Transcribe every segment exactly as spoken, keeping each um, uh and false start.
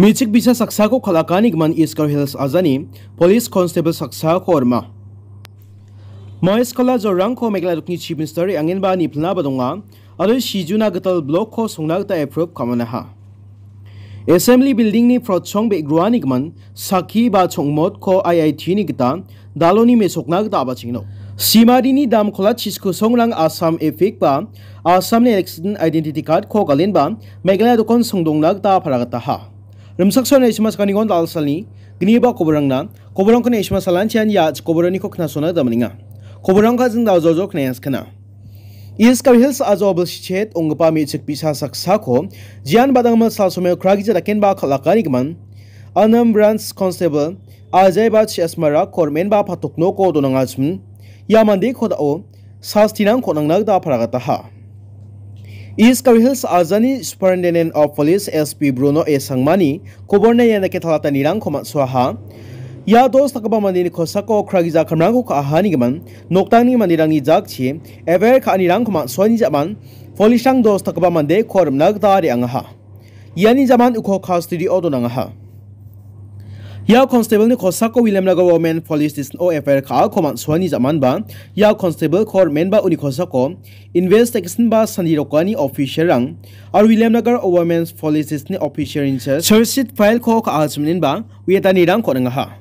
Me·chik bi·sa saksako kal·akanigimin East Garo Hills ajani Police Constable saksako rima. Mahesh Kala Jorangko Meghalaya dokni Chief Minister re·angenba nipilnaba donga, aro Sijuna gital blokko songna gita approve ka·manaha. Assembly Building-ni prochong be·groanigimin sakki ba chongmotko I I T-ni gita daloni mesokna gita a·bachengno. Simarini dam kola chiskusongrang Assam EPIC ba Assamni election identity card-ko galenba Meghalaya dokon songdongna gita paragataha. Rimchaksoani isma sakanigon dalsalni gniba koborangna, koborangkon isma salanchian ya koboraniko knasona gita maninga. Koborangka jing daljojo knayas kana. East Garo Hills ajo bilsichet onggipa me·chik bi·sa saksako jian badangma salsomeo kragija dakenba kal·akanigimin Anam Branch Constable Ajay ba Chiasmara kormenba patok noko donangachim. Ia mandeko da·o sastirangko nangna gita paragataha. East Garo Hills ajani Superintendent of Police S P Bruno A Sangmani koborna ianake talatanirangko man·soaha. Ia dos dakgipa mandeni kosako kragija kamrangko ka·ahanigimin noktangni manderangni jakchi F I R ka·anirangko man·soani ja·man, polisrang dos dakgipa mandeko rimna gita re·angaha. Iani ja·man uko custody-o donangaha. Ia constable-ni kosako Williamnagar Women Police Station-o F I R ka·ako man·soani ja·manba, ia constable-ko rimenba uni kosako investigation ba sandirokani officer-rang aro Williamnagar Women Police Station-ni officer-ni charge sheet file-ko ka·achiminenba uiatanirangko on·angaha.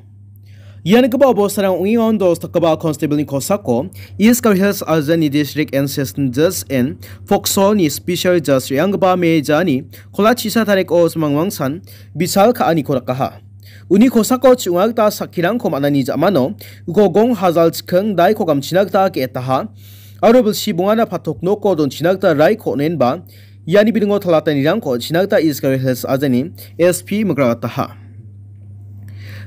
Ia nikgipa obostarang ong·engon dos dakgipa constable-ni kosako East Garo Hills Arjani District Assistant Judge and Pokso-ni Special Judge re·anggipa me jani kola chisa tariko mangmangsan bichal ka·aniko dakaha. Uni kosako chi·onga gita sakkirangko man·ani ja·mano uko gong hajal chiking daiko gamchina gita ge·etaha aro bilsi bongana patok noko donchina gita raiko on·enba iani bidingo talatanirangko on·china gita East Garo Hills Arjani S P mikragataha.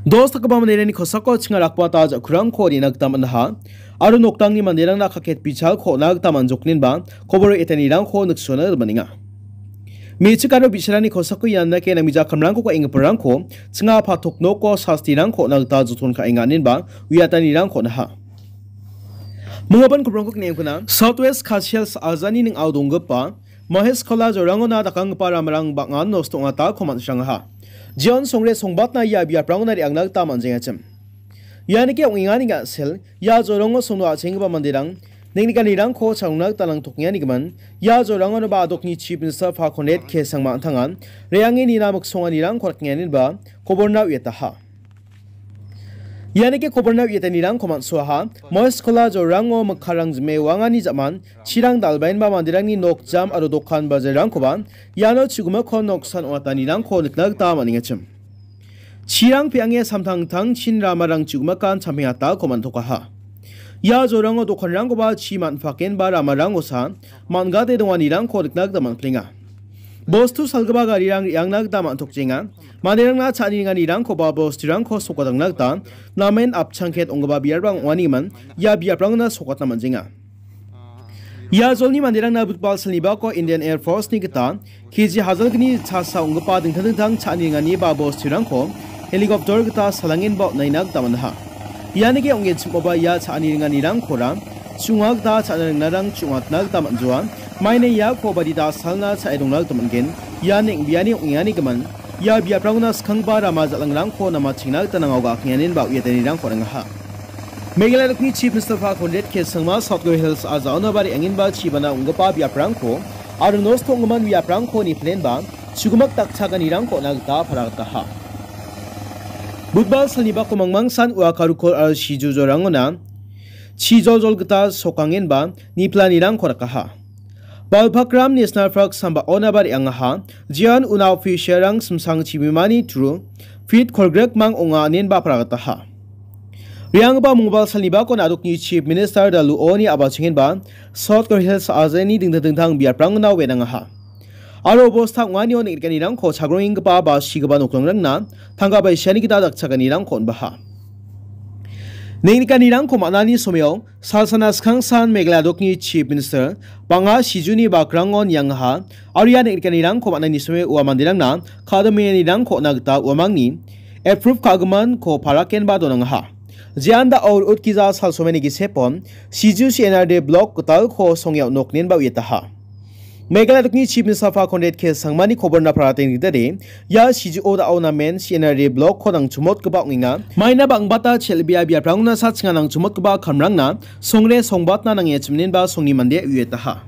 Dos dakgipa manderangni kosako chinga rakbata ja·kurangko on·ina gita man·aha aro noktangni manderangna kaket bichalko on·na gita man·joknenba kobor etanirangko niksona man·enga. Me·chik aro bi·sarangni kosako ian dake namgija kamrangko ka·enggiparangko chinga patok noko sastirangko on·na gita joton ka·enga inenba uiatanirangko on·aha. Minggipan kobrangko kniengkuna South West Khasi Hills Arjani ning·ao donggipa Mahesh Kola Jorangona dakanggipa ramarang bang·an nosto ong·atako man·srangaha. Jeon songre songbatna ia biaprangona re·angna gita man·jengachim. Ianike ong·engani ga·sel, ia jorongo songno a·chenggipa manderang, neng·nikanirangko chalongna gita nangtokengganigimin, ia jorangonoba adokni Chief Minister Pakondet K Sangma an·tangan, re·ange nina miksonganirangko rakengganiba, koborna uiataha. Ianike koborna uiatanirangko man·soaha, Moes Kola jorango mikkarang jime wangani ja·man, chirang dal·baenba manderangni nok jam aro dokan bajarrangkoba iano chigimikon noksan ong·atanirangko nikna gita man·engachim. Chirang pe·ange samtangtangchin ramarang chigimikan champeng atako man·tokaha. Ia jorango dokanrangkoba chi man·pakenba ramarangosa man·gate donganirangko nikna gita man·plenga. Bostu salgipa garirang re·angna gita man·tokjenga. Manderangna cha·ani ringanirangkoba bosturangko sokatangna gita namen apchangket ong·gipa biaprang ong·anigimin ia biaprangna sokatna man·jenga. Ia jolni manderangna budbal salnibako Indian Air Force-ni gita K G hajalgni chasa ong·gipa dingtang dingtang cha·ani ringani ba bosturangko helicopter gita salangenba on·aina gita man·aha. Ianike ong·genchimoba ia cha·ani ringanirangkora chu·onga gita cha·na ringnarang chu·ongatna gita man·joa. Maina iako badita salna cha·e dongna gita man·gen. Ian eng·biani ong·enganigimin ia biaprangona skanggipa rama jal·angrangko namachengna gita nangao ga·akenganin ba uiatanirangko on·angaha. Meghalaya dokni Chief Minister Pakondet K Sangma South Garo Hills a·jaona ba re·angenba chibana ong·gipa biaprangko aro nosto ong·gimin biaprangko niplenba chugimik dakchakanirangko on·a gita paragataha. Budbal salnibako mangmangsan ua Karukor aro Siju jorangona chijoljol gita sokangenba niplanirangko rakaha. Balpakram National Park sambaonaba re·angaha, jeon una official-rang simsang chibimani turu feet kolgrikmang ong·a inenba paragataha. Re·anggipa mongba salnibako na·dokni Chief Minister Daluoni a·bachengenba South Garo Hills a·jaoni dingtang dingtang biaprangna wenangaha. Aro bosta ong·anio neng·rikanirangko chagrongenggipa ba sigipa nokdringrangna tangka baisiani gita dakchakanirangko on·baha. Neng·rikanirangko man·ani somao Salsana skangsan Meghalaya dokni Chief Minister bang·a Sijuni bakrangko niangaha, aro ia neng·rikanirangko man·ani somao ua manderangna ka·dimianirangko on·a gita uamangni approve ka·giminko parakenba donangaha. Jean da aur utgija salsomeni gisepon Siju C N R D block gitalko songao noknenba uiataha. Meghalaya dokni Chief Minister Conrad K Sangmani koborna parate nigitade, ia Sijuo dao namen C N R A block-ko nangchumotgipa ong·enga. Maina bang·bata chel·bea biaprangona sachinga nangchumotgipa kamrangna songre songbatna nange chiminenba songni mande uietaha.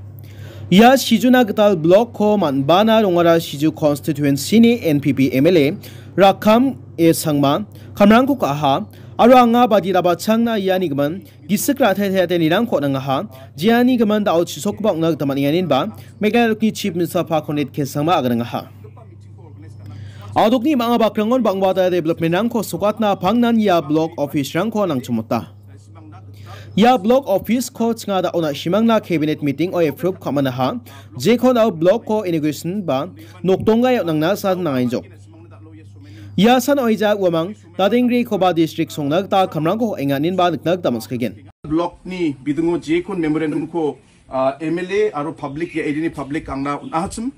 Ia Sijuna gital block-ko man·bana rongara Siju constituency-ni N P P M L A Rakkam A Sangma kamrangko ka·aha, aro anga badi rabachangna iani gimin gisik ra·te te·atenirangko nangaha, jeani gimin dao chisokgipa ong·na gita man·enga, inenba Meghalaya dokni Chief Minister Conrad K Sangma aganangaha. Adokni bang·a bakrangon bang·bata development-rangko sokatna pangnan ia block office-rangko nangchumota. Ia block office-ko chinga dao na·simangna cabinet meeting-o approve ka·manaha, jekon dao block-ko inauguration ba nokdongga on·angna san nangaijok. Ia san oija uamang Dadengrekoba district songna gita kamrangko enganinba nikna gita man·sikagen. Block-ni bidingo jekon memorandum-ko, ah, M L A aro public, ia area-ni public angna on·ahachim.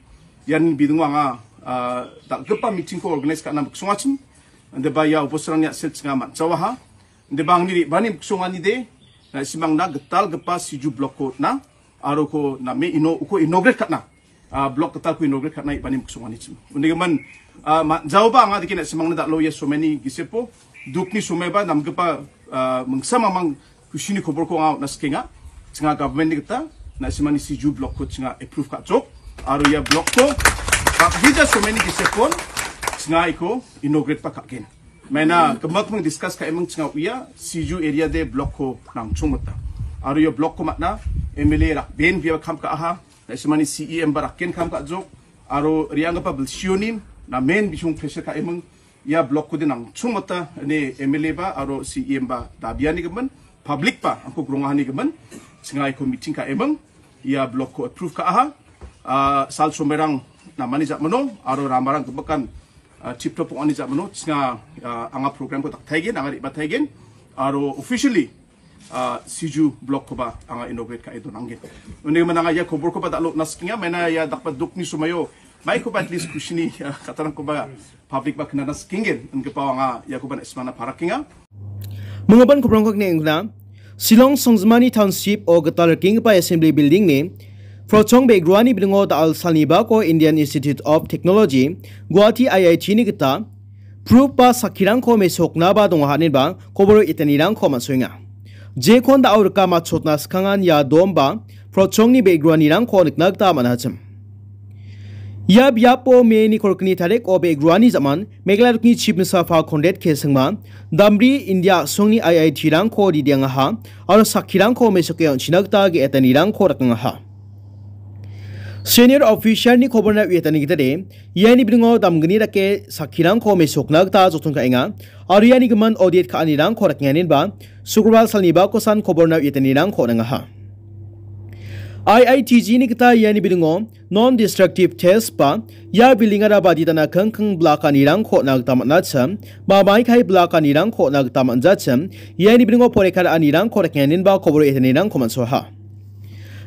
Ian bidingo anga, ah, dal·gipa meeting-ko organize ka·na miksongachim. Indiba ia officer-rangni a·sel chinga man·jawaha. Indiba angni re·bani miksonganide, na·simangna gitalgipa Siju block-ko on·a, aro ko name ino-, uko inaugurate ka·na, ah, block gitalko inaugurate ka·na re·bani miksonganichim. Unigimin, ah, man·jaoba anga dake na·simangna dal·o ia somaini gisepo, dukni somaiba namgipa, ah, mingsa mamang kusini koborko anga on·na sikenga. Chinga government-ni gita, na·simani Siju block-ko chinga approve ka·jok. Aro ia block-ko, bakgija somaini gisepon, chinga iko inaugurate-ba ka·gen. Maina, gimikming discuss ka·eming chinga uia, Siju area de block-ko nangchongmota. Aro ia block-ko man·a, M L A rak ben bia kam ka·aha, na·simani C E M ba rakken kam ka·jok, aro re·anggipa bilsionin, namen bisong pressure ka·eming, ia block-ko de nangchongmota, ine M L A ba, aro C E M ba dabiani gimin, public ba, angko grongahani gimin, chinga iko meeting ka·eming, ia block-ko approve ka·aha. Ah, sal somairang namani ja·mano, aro ramarang gimikan, ah, tip-top ong·ani ja·mano, chinga, ah, anga program-ko daktaigen, anga re·bataigen, aro officially, ah, Siju block-koba anga inaugurate ka·e donanggen. Unigimin anga ia koborkoba dal·o on·na sikenga, maina ia dakba dukni somaio, maikoba at least kusini, ah, katarangkoba public ba knana sikenggen, inggipa anga iakoba na·simangna parakenga. Minggipan kobrangko kine ingna, Shillong songjimani township o gital rikenggipa assembly building-ni Prochong Begruani bidingo da·al salnibako Indian Institute of Technology, Guwahati I I T-ni gita proof ba sakkirangko mesoknaba donga haninba koboro etanirangko man·soenga. Jekon da·o rika matchotna skangan ia dom ba Prochongni Begruanirangko nikna gita man·achim. Ia biapo May-ni kolgni tariko Begruani jaman Meghalaya dokni Chief Minister Conrad K Sangma, Damri India a·songni I I T-rangko ridiangaha aro sakkirangko mesoke on·china gita ge·etanirangko rakangaha. Senior official-ni koborna uiatani gitade, iani bidingo damgni dake sakkirangko mesokna gita joton ka·enga, aro iani gimin audit ka·anirangko rakenganinba, Sukrobal salnibako san koborna uiatanirangko on·angaha. I I T G-ni gita iani bidingo non-destructive test ba ia building-ara baditana kingking blak ka·anirangko on·na gita man·achim, ba maikai blak ka·anirangko on·na gita man·jachim, iani bidingo poreka ra·anirangko rakenganinba koboro etanirangko man·soaha.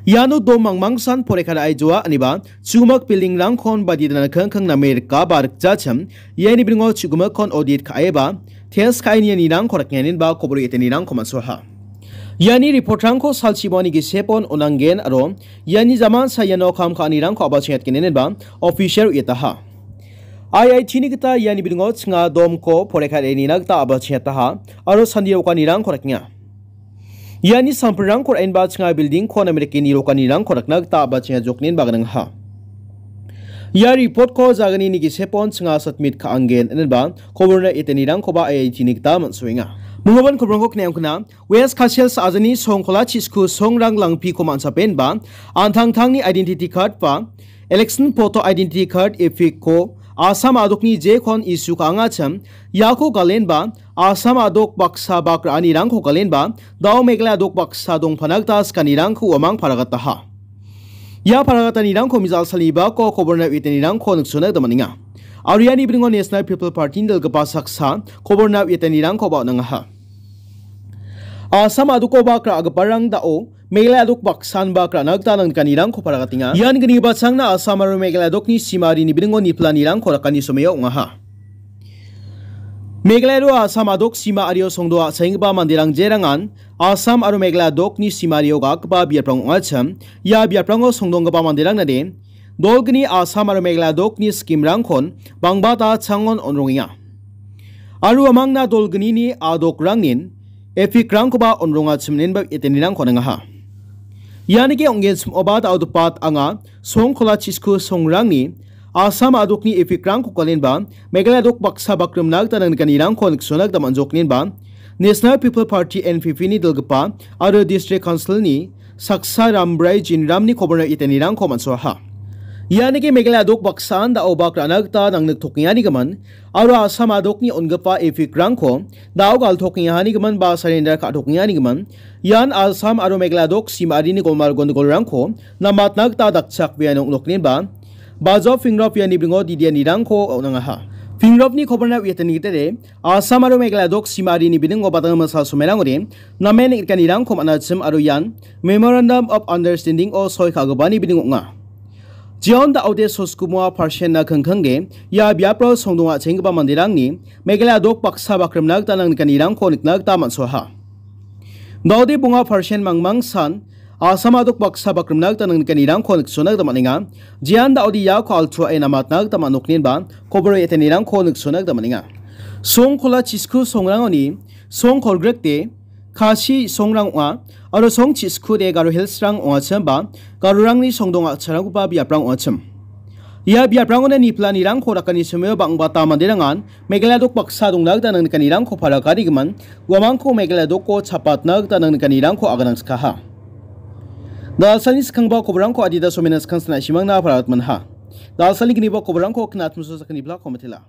Iano dom mangmangsan poreka ra·aijoa aniba chumak building-rangkon baditana kingking name rika ba rikjachim, iani bidingo chu·gimikkon audit ka·eba test ka·e nianirangko rakenganinba koboro etanirangko man·soaha. Iani report-rangko salchi bongani gisepon on·angen aro iani jaman sa iano kam ka·anirangko a·bachengatgen inenba official uiataha. I I T-ni gita iani bidingo chinga domko poreka ra·e nina gita a·bachengataha aro sandi rokanirangko rakenga. Iani samplrangko ra·enba chinga building-ko name dake nirokanirangko rakna gita a·bachengajoknin ba gnangha. Ia report-ko jaganini gisepon chinga submit ka·angen inenba koborna etanirangkoba I I T-ni gita man·soenga. Minggipan koborangko kine ong·kona, West Khasi Hills a·jani songkola chisku songrang langpiko man·sapenba, an·tangtangni identity card ba election photo identity card EPIC-ko Assam a·dokni jekon issue ka·angachim, iako galenba Assam a·dok baksa bak ra·anirangko galenba, da·o Meghalaya a·dok baksa dongpana gita sikanirangko uamang paragataha. Ia paragatanirangko mijal salnibako koborna uiatanirangko niksona gita man·enga. Aro iani bidingo National People Party-ni dal·gipa saksa koborna uiatanirangkoba on·angaha. Assam a·dokoba gra·giparang da·o Meghalaya a·dok baksan ba gra·na gita nangnikanirangko paragatenga. Ian gnibachangna Assam aro Meghalaya a·dokni simarini bidingo niplanirangko rakani someo ong·aha. Meghalaya aro Assam a·dok sima ario songdoa a·saenggipa manderang jerangan Assam aro Meghalaya a·dokni simario gatgipa biaprang ong·achim, ia biaprango songdonggipa manderang nade Dolgni Assam aro Meghalaya dokni scheme-rangkon bangbata changon onrongenga. Aro uamangna dolgnini adokrangnin epic-rangkoba onrongachimnenba itenirangko ningaha. Ianike ong·genchim oba da·odopat anga songkola chisku songrangni Assam adokni epic-rangko kalenba Meghalaya dok baksa bakrimna gita nangnikanirangko niksona gita man·joknenba National People Party, N P P-ni dilgipa aro District Council-ni saksa Rambrai Jinramni koborna itenirangko man·soaha. Ianike Meghalaya dok baksaan da·o bak ra·na gita nangniktokengani gimin aro Assam adokni on·gipa epic-rangko da·o galtokengahani gimin ba surrender ka·tokengani gimin ian Assam aro Meghalaya dok simarini golmal gondogolrangko namatna gita dakchakbea noknokninba Bajo Phingrop iani bringo didianirangko on·angaha. Phingrop-ni koborna uiatani gitere, Assam aro Meghalaya dok simarini biningo badang masa somerangode namen neng·rikanirangko man·achim aro ian Memorandum of Understanding-o soi ka·gipani bining ong·a. Jeon da·ode soskumoa parsen-na kingkingge ia biapro songdonga chenggipa manderangni Meghalaya dok baksa bakrimna gita nangnikanirangko nikna gita man·soaha. Da·ode bonga parsen mangmangsan Assam adok baksa bakrimna gita nangnikanirangko niksona gita man·enga. Jeon da·ode iako altuae namatna gita man·oknenba koboro etenirangko niksona gita man·enga. Songkola chisku songrangoni song kolgrikde Khasi songrang ong·a, aro song chiskude Garo Hills-rang ong·achim ba Garorangni songdong a·charanggipa biaprang ong·achim. Ia biaprangona niplanirangko dakani somio bang·bata manderangan Meghalaya dok baksa dongna gita nangnikanirangko palakarigimin, uamangko Meghalaya doko chapatna gita nangnikanirangko aganangskaha. Dalsani skangba koborangko adita somena skang sina simangna paratmanha. Dalsani gniba koborangko knatmuso sakani blako matela.